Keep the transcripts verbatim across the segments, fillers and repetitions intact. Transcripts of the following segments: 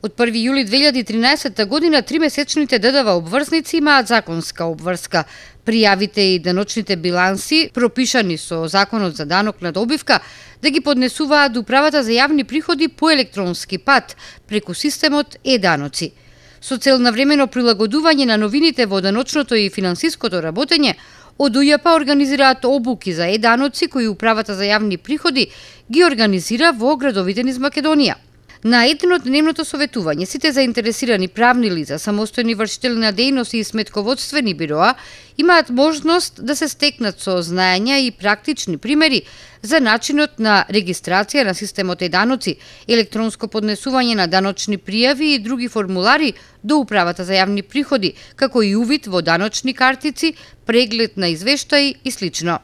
Од први јули две илјади и тринаесетта година тримесечните ДДВ обврсници имаат законска обврска. Пријавите и деночните биланси, пропишани со Законот за данок на добивка, да ги поднесуваат до Управата за јавни приходи по електронски пат, преку системот е-даноци. Со цел на времено прилагодување на новините во даночното и финансиското работење, од УЈП организираат обуки за е-даноци кои Управата за јавни приходи ги организира во градовите низ Македонија. На еднодневното советување сите заинтересирани правни лица, самостојни вршители на дејност и сметководствени бироа имаат можност да се стекнат со знаења и практични примери за начинот на регистрација на системот е-даноци, електронско поднесување на даночни пријави и други формулари до Управата за јавни приходи, како и увид во даночни картици, преглед на извештаи и слично.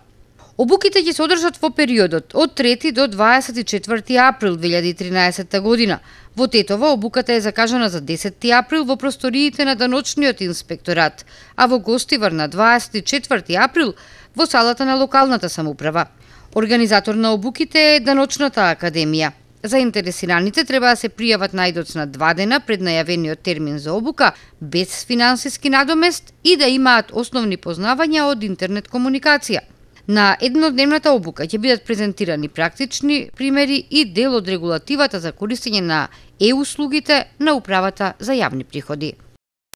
Обуките ќе се одржат во периодот од трети до дваесет и четврти април две илјади и тринаесетта година. Во Тетово обуката е закажана за десети април во просториите на даночниот инспекторат, а во Гостивар на дваесет и четврти април во салата на локалната самоуправа. Организатор на обуките е Даночната академија. Заинтересираните треба да се пријават најдоцна два дена пред најавениот термин за обука, без финансиски надомест и да имаат основни познавања од интернет комуникација. На еднодневната обука ќе бидат презентирани практични примери и дел од регулативата за користење на е-услугите на Управата за јавни приходи.